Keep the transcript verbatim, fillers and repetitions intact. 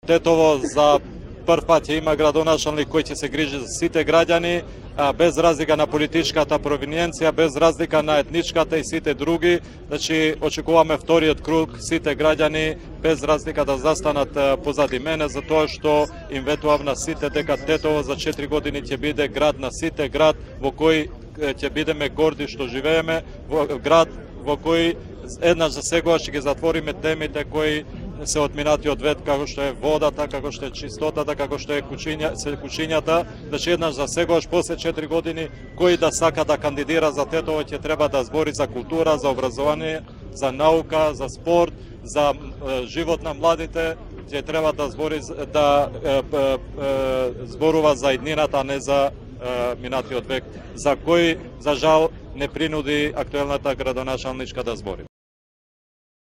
Тетово за прв пат ќе има градоначалник кој ќе се грижи за сите граѓани, без разлика на политичката провиненција, без разлика на етничката и сите други. Значи, очекуваме вториот круг, сите граѓани без разлика да застанат позади мене, затоа што им ветував на сите дека Тетово за четири години ќе биде град на сите, град во кој ќе бидеме горди што живееме, град во кој еднаш за сегогаш ќе ги затвориме темите кои се отминати од век, како што е водата, како што е чистотата, како што е кучиња, се кучињата. Значи еднаш за сегогаш после четири години кој да сака да кандидира за Тетово ќе треба да збори за култура, за образование, за наука, за спорт, за е, живот на младите, ќе треба да збори да е, е, е, зборува за иднината, а не за е, минатиот век, за кој за жал не принуди актуелната градоначалничка да збори.